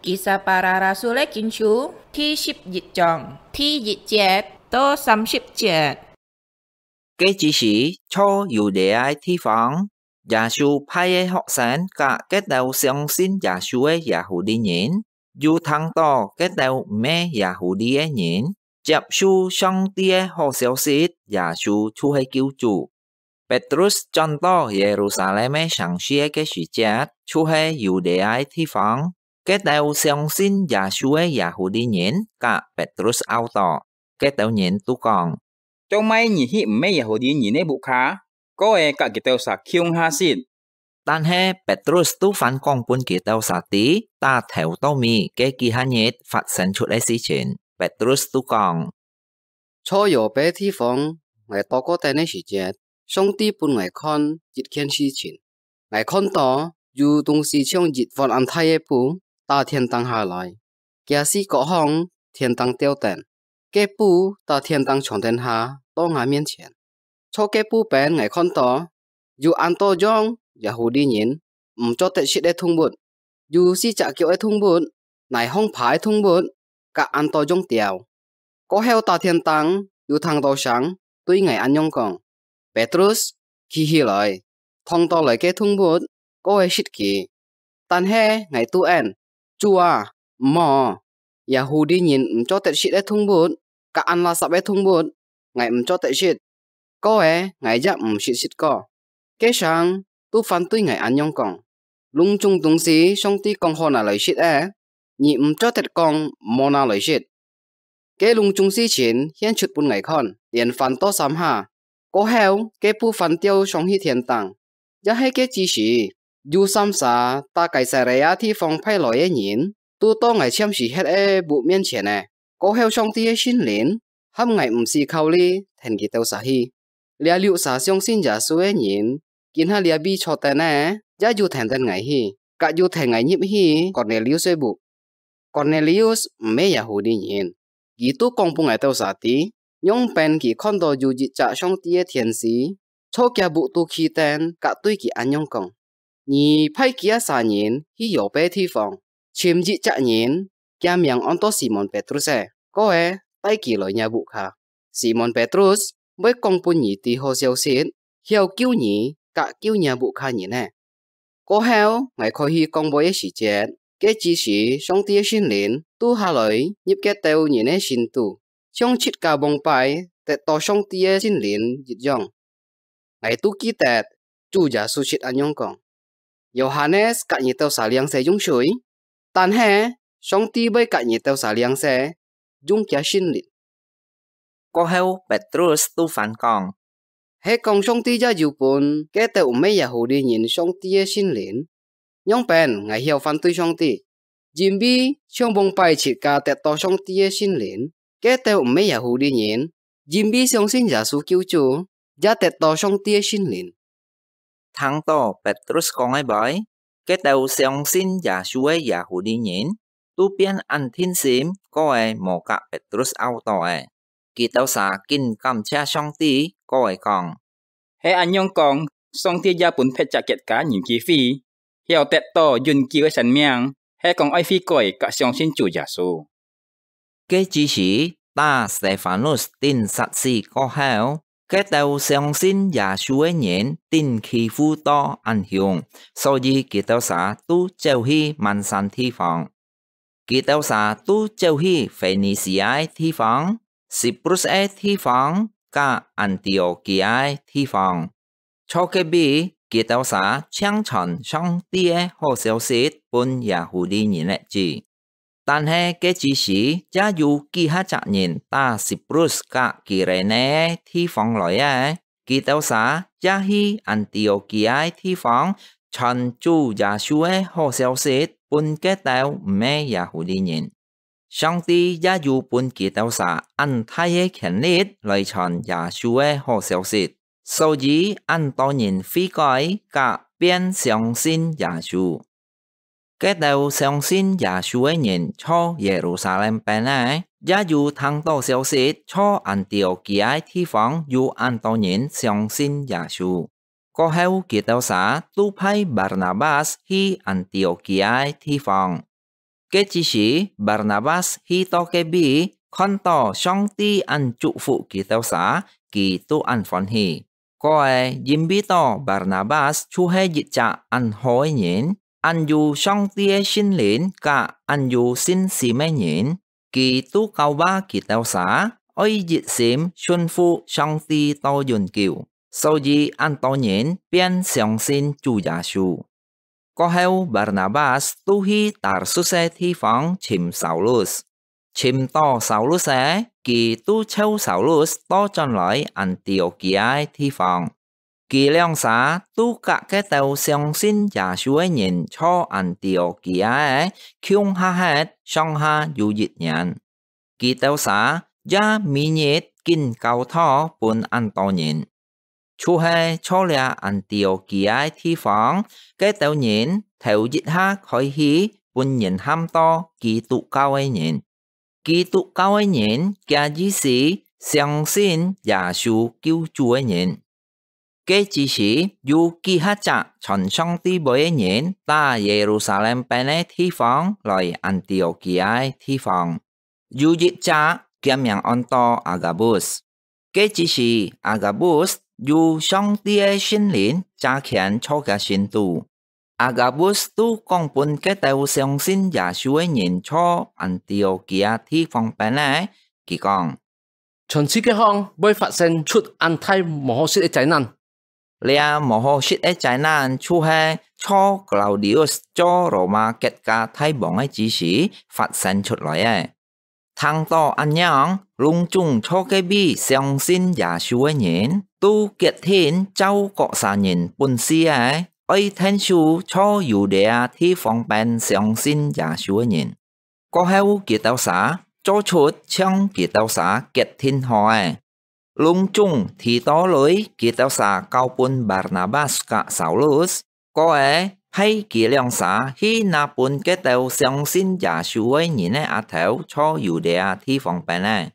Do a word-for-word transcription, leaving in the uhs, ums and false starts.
Kisah Para Rasul-é Kiên-Khiu第十一章第一節到三十節。該之時，在猶太个地方，耶穌派个學生佮該兜相信耶穌个耶戶利人，又聽到該兜毋係耶戶利个人接受上帝个好消息，耶穌就係救主。 Petrus轉到耶路撒冷个城市个時節，就係猶太个地方，該兜相信耶穌个耶戶利人佮Petrus拗到，該兜人都講：「做麼你去毋係耶戶利人个屋下，過仔佮佢兜儕共下食？」但係Petrus都還講分佢兜儕知，打頭到尾个幾下日發生出个事情。Petrus都講： 在Yope地方，𠊎禱告等个時節，上帝分𠊎看一件事情。𠊎看到有東西像一碗恁大个布，打天頂下來，厥四角項天頂吊等，該布打天頂傳等下到吾面前。在該布邊𠊎看到有恁多樣耶戶利人毋做得食个動物， 有四隻腳个動物，泥項爬个動物，佮恁多樣鳥。過後打天頂又聽到聲，對𠊎恁樣講：「Petrus，企起來，動到來个動物，過仔食佢。」但係𠊎都應：「主啊，毋好！耶戶利人毋做得食个動物，佮恁垃圾个動物，𠊎毋做得食。」過仔𠊎也毋識食過。該聲都還對𠊎恁樣講：「攏總東西上帝講好拿來食个，你毋做得講毋好拿來食。」該攏總事情顯出分𠊎看，連翻到三下。過後，該布還吊上去天頂。也係該之時，有三儕打該撒利亞地方派來个人，都到𠊎暫時歇个屋面前了。過後上帝个聖靈，喊𠊎毋使考慮跈佢兜儕去。 這六儕相信耶穌个人，今下這位坐等个，也有跈等𠊎去，佮有跈𠊎入去Kornelius个屋。Kornelius毋係耶戶利人，佢都講分𠊎兜儕知，仰般佢看到有一隻上帝个天使，在厥屋肚企等，佮對佢恁樣講： 「你派幾下儕人去Yope地方，尋一隻人，厥名安到Simon Petrus个，過仔帶佢來若屋下。Simon Petrus會講分你知好消息，曉救你佮救若屋下人个。」過後，𠊎開去講話个時節，該之時上帝个聖靈都下來入該兜人个心肚，像自家往擺得到上帝个聖靈一樣。 𠊎都記得主耶穌識恁樣講：「Yohanes佮你兜儕領洗用水，但係上帝會佮你兜儕領洗，用厥聖靈。」過後，Petrus都還講：「係講上帝也有分該兜毋係耶戶利人上帝个聖靈，仰般𠊎曉反對上帝？因為像往擺自家得到上帝个聖靈，該兜毋係耶戶利人，因為相信耶穌救主，也得到上帝个聖靈。」聽到Petrus講个話，該兜相信耶穌个耶戶利人，都變恁定心，過仔無佮Petrus拗到了。佢兜儕緊感謝上帝，過仔講：「係恁樣講，上帝也分別隻國家人機會，曉得到永久个生命，係講愛悔改佮相信主耶穌。」該之時，打Stefanus釘殺死過後，該兜相信耶穌个人，定欺負到恁凶，所以佢兜儕都走去蠻山地方。佢兜儕都走去腓尼西亞个地方、Cyprus个地方，佮安提阿基亞个地方。在該位，佢兜儕淨傳上帝个好消息分耶戶利人个知。但係該之時，也有幾下隻人打Cyprus佮基利尼个地方來个，佢兜儕也去安提阿基亞个地方，傳主耶穌个好消息分該兜毋係耶戶利人。上帝也有分佢兜儕恁大个權力來傳耶穌个好消息，所以恁多人悔改佮變相信耶穌。該兜相信耶穌个人在耶路撒冷邊个，也有聽到消息，在安提阿基亞个地方有恁多人相信耶穌。過後，佢兜儕都派Barnabas去安提阿基亞个地方。該之時，Barnabas去到該位，看到上帝恁祝福佢兜儕，佢都恁歡喜。過仔，因為到Barnabas就係一隻恁好个人，恁有上帝个聖靈，甲恁有信心个人，佢都教化佢兜儕，愛一心順服上帝到永久。所以，恁多人便相信主耶穌。 過後，Barnabas都去Tarsus个地方尋Saulus。尋到Saulus仔，佢都湊Saulus倒轉來Antiokia个地方。佢兩儕都甲該兜相信耶穌个人坐Antiokia个共下歇上下有一年。佢兜儕也每日緊教導分恁多人。 就係坐這Antiokia个地方，該兜人頭一下開始分人喊到基督教个人。基督教个人，厥意思相信耶穌救主个人。該之時，有幾下隻傳上帝話个人，打Yerusalem邊个地方來Antiokia个地方。 有一隻厥名安到Agabus。該之時，Agabus有上帝个聖靈差遣做厥信徒。Agabus都講分該兜相信耶穌个人坐Antiokia地方邊个，佢講：全世界項會發生出恁大無好食个災難。 這無好食个災難就係坐Claudius做羅馬國家大王个之時發生出來个。聽到恁樣，攏總坐該位相信耶穌个人，都決定照各儕人本事个，愛𢯭手坐Yudea地方邊相信耶穌个人。 過後佢兜儕做出像佢兜儕決定好个。攏總提到鐳，佢兜儕交分Barnabas甲Saulus，過仔派佢兩儕去拿分該兜相信耶穌个人个額頭坐Yudea地方邊个。